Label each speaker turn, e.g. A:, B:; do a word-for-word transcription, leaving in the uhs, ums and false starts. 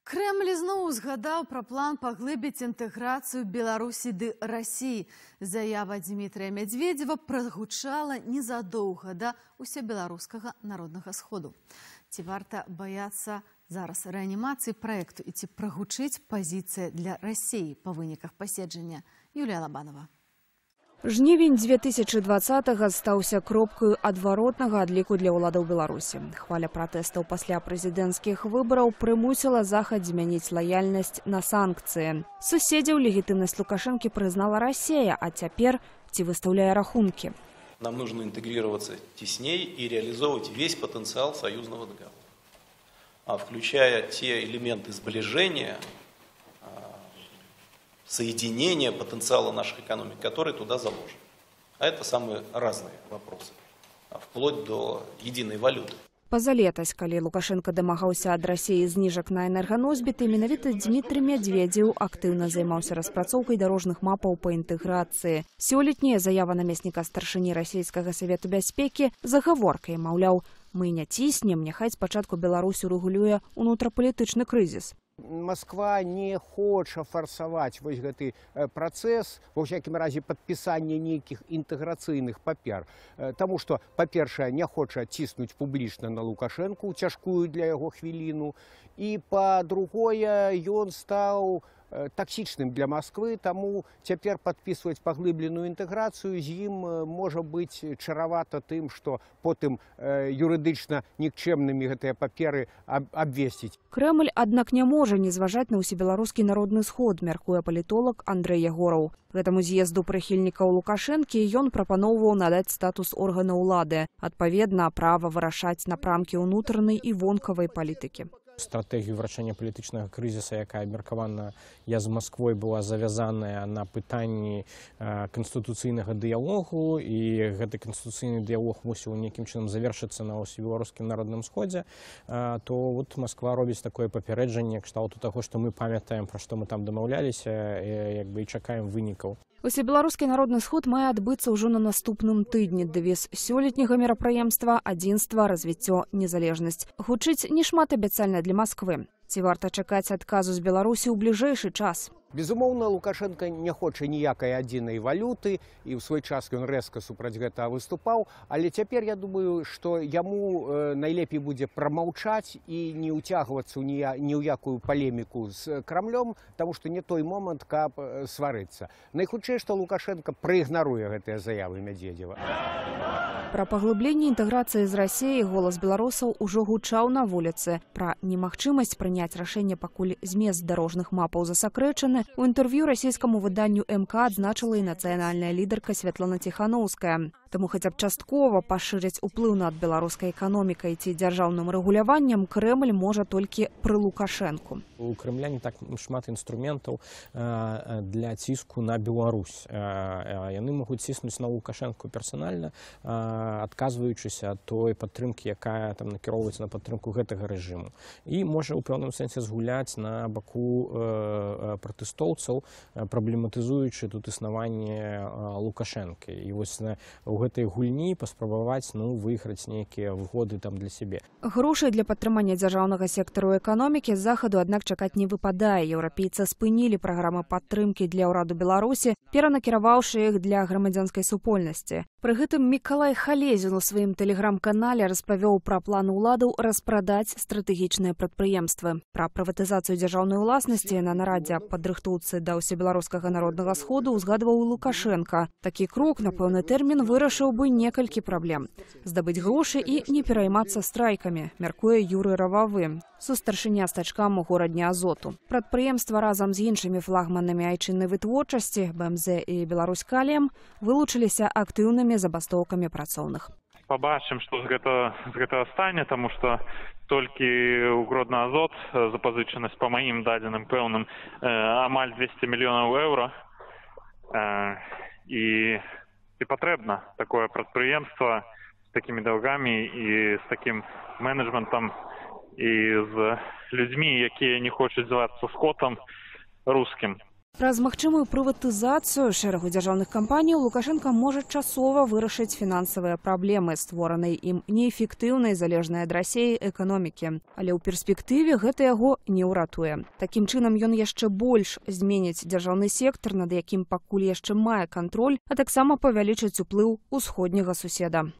A: Кремль зноў узгадаў пра план паглыбіць інтэграцыю Беларусі ды Расіі. Заява Дмітрия Медведева прагучала незадоўга да ўсебеларускага народнага сходу. Ці варта баяцца зараз рэанімацыі праекту і ці прагучыць пазіцыя для Расіі па выніках паседжання? Юлія Лабанова.
B: Жнівень дзве тысячы дваццатага стаўся кропкаю адваротнага адліку для ўладаў Беларусі. Хваля пратэстаў пасля прэзідэнцкіх выбараў прымусіла Захад змяніць лаяльнасць на санкцыі. Суседзяў легітымнасць Лукашэнкі прызнала Расія, а цяпер ці выстаўляе рахункі.
C: Нам нужно интегрироваться тесней и реализовывать весь потенциал союзного договора, включая те элементы сближения, соединение потенциала наших экономик, которые туда заложены. А это самые разные вопросы, вплоть до единой валюты.
B: Пазалетась, калі Лукашенко дамагаўся ад Расіі зніжак на энерганосьбіты, менавіта Дмітрий Медведев актыўна займаўся распрацоўкай дарожных мапаў па інтэграцыі. Сёлетняя заява намесніка старшыні расійскага савету бяспекі загаворкай, маўляў, мы не ціснем, няхай спачатку Беларусь урэгулюе унутрапалітычны крызіс.
D: Москва не хоча фарсаваць вось гэты працэс, ва ўсякім разе падпісання нейкіх інтэграцыйных папер. Таму што, па-першае, не хоча ціснуць публічна на Лукашэнку ў цяжкую для яго хвіліну. І, па-другое, ён стаў таксічным для Москвы, таму цяпер падпісваць паглыбленую інтэграцыю з ім можа быць чаравата тым, што потым юрыдычна нікчэмнымі гэтыя паперы абвесціць.
B: Кремль, аднак, не можа не зважаць на ўсебеларускі народны сход, мяркуе палітолог Андрэй Ягораў. Гэтаму з'езду прыхільнікаў Лукашэнкі ён прапаноўваў надаць статус органа ўлады, адпаведна права вырашаць напрамкі ўнутранай і вонкавай палітыкі.
E: Стратэгію вырашэння палітычнага крызіса, якая абмеркавана я з Масквой, была завязаная на пытанні канстытуцыйнага дыялогу, і гэты канстытуцыйны дыялог мусіў нейкім чынам завершыцца на ўсебеларускім народным сходзе, то вот Масква робіць такое папярэджанне кшталту таго, што мы памятаем, пра што мы там дамаўляліся, як бы і чакаем вынікаў.
B: Усебеларускі народны сход мае адбыцца ўжо на наступным тыдні. Дэвіз сёлетняга мерапрыемства адзінства, развіццё, незалежнасць. Гучыць не шмат абяцальна для Масквы. Ці варта чакаць адказу з Беларусі ў бліжэйшы час?
D: Безумоўна, Лукашенко не хоча ніякай адзінай валюты, і ў свой час ён рэзка супраць гэтага выступаў, але цяпер я думаю, што яму найлепей будзе прамаўчаць і не ўцягвацца ні ў якую палеміку з Крамлём, таму што не той момант, каб сварыцца. Найхутчэй, што Лукашенко праігнаруе гэтыя заявы Медведева.
B: Пра паглыбленне інтэграцыі з Расіяй голас беларусаў ужо гучаў на вуліцы. Пра немагчымасць прыняць рашэнне, пакуль змест дарожных мапаў засакрэчаны, у інтэрв'ю расійскаму выданню эм ка адзначыла і нацыянальная лідарка Святлана Ціханаўская. Таму хаця б часткова пашырыць уплыў над беларускай эканомікай ці дзяржаўным рэгуляваннем Кремль можа толькі пры Лукашэнку.
E: У Кремля не так шмат інструментаў для ціску на Беларусь. Яны могуць ціснуць на Лукашэнку персанальна, адказваючыся ад той падтрымкі, якая там накіроўваецца на падтрымку гэтага рэжыму. І можа ў пэўным сэнсе згуляць на баку пратэстоўцаў, праблематызуючы тут існаванне Лукашэнкі. І вось у гэтай гульні паспрабаваць ну, выйграць нейкія выгоды там для сябе.
B: Грошай для падтрымання дзяржаўнага сектару эканомікі з захаду, аднак, чакаць не выпадае. Еўрапейцы спынілі праграмы падтрымкі для ўраду Беларусі, перанакіраваўшы іх для грамадзянскай супольнасці. Пры гэтым Мікалай Халезін у сваім тэлеграм-канале распавёў пра план уладаў распрадаць стратэгічныя прадпрыемствы. Пра прыватызацыю дзяржаўнай уласнасці на нарадзе аб падрыхтоўцы да ўсебеларускага народнага сходу ўзгадваў Лукашенка. Такі крок на пэўны тэрмін вырашыў бы некалькі праблем. Здабыць грошы і не пераймацца страйкамі, мяркуе Юрый Рававы, сустаршыня стачкам у горадні Азоту. Прадпрыемства разам з іншымі флагманамі айчыннай вытворчасці бэ эм зэ і Беларусь-Каліем вылучыліся актыўнымі забастоўкамі працоўных.
F: Пабачым, што з гэтага, з гэтага стане, таму што толькі ў Гродна-Азот запазычанасць па маім дадзеным пэўным амаль дзвесце мільёнаў еўра. І, і патрэбна такое прадпрыемства з такімі даўгамі і з такім менеджментам і з людзьмі, якія не хочуць звацца скотам рускім.
B: Праз магчымую прыватызацыю шэрагу дзяржаўных кампаній Лукашенко можа часова вырашыць фінансавыя праблемы, створанай ім неэфектыўнай, залежнай ад Расіі эканомікі. Але ў перспектыве гэта яго не ўратуе. Такім чынам ён яшчэ больш зменіць дзяржаўны сектар, над якім пакуль яшчэ мае кантроль, а таксама павялічыць уплыў усходняга суседа.